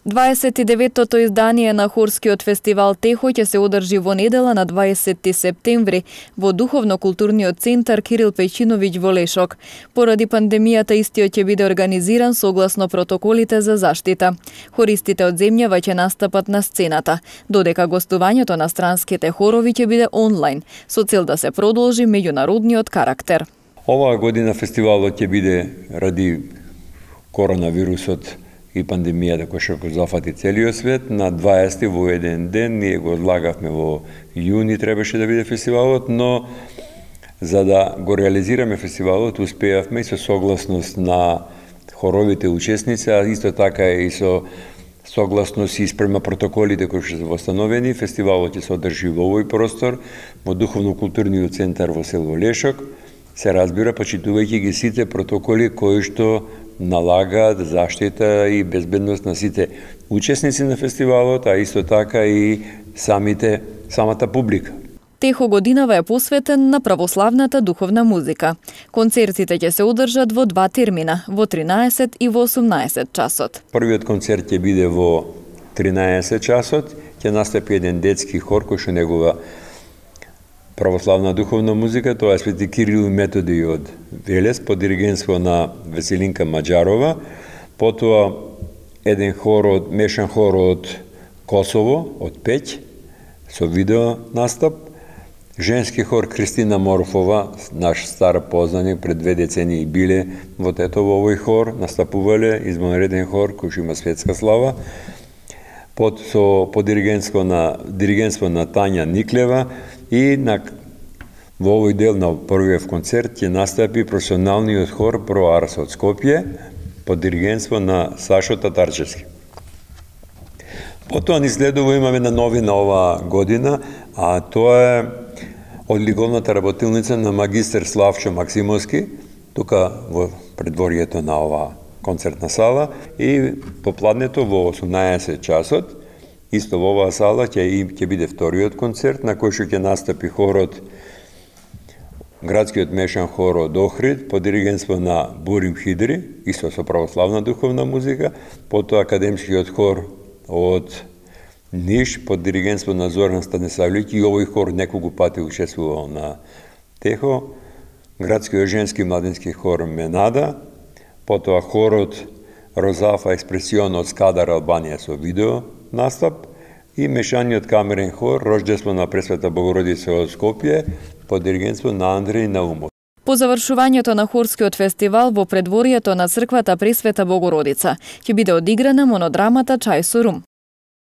29-тото издание на хорскиот фестивал Техо ќе се одржи во недела на 20 септември во Духовно-културниот центар Кирил Пејчиновиќ во Лешок. Поради пандемијата истиот ќе биде организиран согласно протоколите за заштита. Хористите од земјава ќе настапат на сцената, додека гостувањето на странските хорови ќе биде онлайн, со цел да се продолжи меѓународниот карактер. Оваа година фестивалот ќе биде ради коронавирусот и пандемијата која ќе зафати целиот свет. На 20 во еден ден, ние го одлагавме во јуни, требаше да биде фестивалот, но за да го реализираме фестивалот, успеавме и со согласност на хоровите учесници, а исто така и со согласност и спрема протоколите кои што се восстановени. Фестивалот ќе се одржи во овој простор, во Духовно-културниот центар во село Лешок, се разбира, почитувајќи ги сите протоколи кои што налагаат заштита и безбедност на сите учесници на фестивалот, а исто така и самата публика. Техо годинава е посветен на православната духовна музика. Концертите ќе се одржат во два термина, во 13 и во 18 часот. Првиот концерт ќе биде во 13 часот, ќе настапи еден детски хор кој што негова православна духовна музика, тоа е Свети Кирил и Методи од Велес, под диригентство на Веселинка Маџарова, потоа еден хор мешан хор од Косово, од Пеќ, со видео настап, женски хор Кристина Морфова, наш стар познаник, пред 2 децении биле во Тетово овој хор, настапувале, извонреден хор кој има светска слава, под диригентство на Тања Никлева, и во овој дел на првиот концерт ќе настапи професионалниот хор Про Арс од Скопје под диригентство на Сашо Татарчевски. Потоа ни следува, имаме една новина оваа година, а тоа е од ликовната работилница на магистер Славчо Максимовски, тука во предворието на оваа концертна сала, и попладнето во 18 часот, исто во оваа сала ќе биде вториот концерт на кој што ќе настапи хорот, градскиот мешан хор од Охрид, под диригентство на Бурим Хидри, исто со православна духовна музика, потоа академскиот хор од Ниш, под диригентство на Зоран Станиславлиќ, и овој хор неколку пати учествувал на Техо, градскиот женски младински хор Менада, потоа хорот Розафа Експресион од Скадар, Албанија, со видео настап, и мешаниот камерен хор Рождество на Пресвета Богородица од Скопје под диригентство на Андреј Наумов. По завршувањето на хорскиот фестивал во предворието на црквата Пресвета Богородица ќе биде одиграна монодрамата Чај со рум.